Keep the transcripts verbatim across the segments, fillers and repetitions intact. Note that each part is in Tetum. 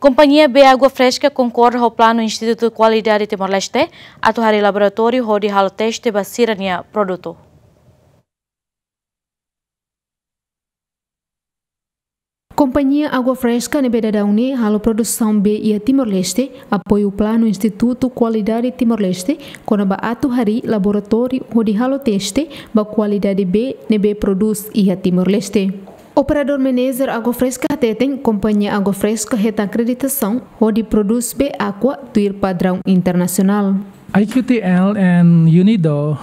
Kompañia Bee Água Fresca konkorda ho planu Institutu Kualidade Timor-Leste atu harii laboratóriu hodi halo teste ba sira-nia produtu. Kompañia Água Fresca ne'ebé daudaun ne'e halo produsaun bee iha Timor-Leste, apoiu planu Institutu Kualidade Timor-Leste, kona-ba atu harii laboratóriu hodi halo teste ba kualidade bee ne'ebé prodús iha Timor-Leste. Operadór Manager Água Fresca hateten, Kompañia Água Fresca hetan akreditasaun hodi prodús bee Aqua tuir padraun internasionál. I Q T L and UNIDO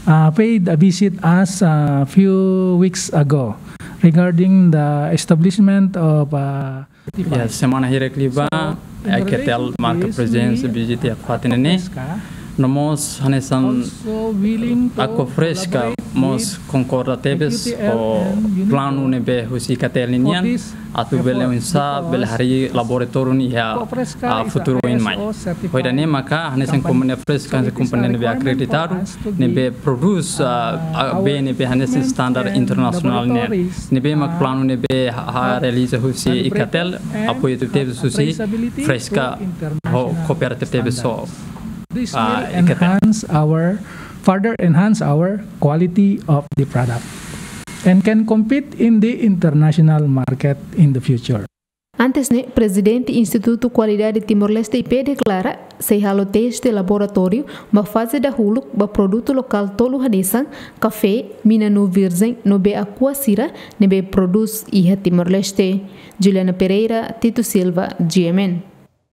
uh, paid a visit us a few weeks ago regarding the establishment of uh, Ya, semana hirak liubá, I Q T L marka prezensa, vizita iha fatin ne'e. No mós hanesan Aqua Fresca mós konkorda tebes ho planu ne'ebé husi I Q T L nian, atu bele oinsá bele harii laboratóriu nian iha, ah, futuru oin mai. Ho ida-ne'e maka hanesan kompañia Fresca, hanesan kompañia ne'ebé akreditadu, ne'ebé prodús, ah, ah, bee ne'ebé hanesan standar internasionál nian. Ne'ebé mak planu ne'ebé ha, ha realiza husi I Q T L, apoiu tebes husi Fresca ho koopera tebes ho, ah, I Q T L. Enhance our, further enhance our quality of the product and can compete in the international market in the future. Antes ne'e, Prezidente Institutu Kualidade Timor-Leste, I P, deklara sei halo teste laboratóriu ba faze dahuluk ba produtu lokál tolu hanesan kafé, mina-nuu virjen no bee Aqua sira ne'ebé prodús iha Timor-Leste. Juliana Pereira, Tito Silva, G M N.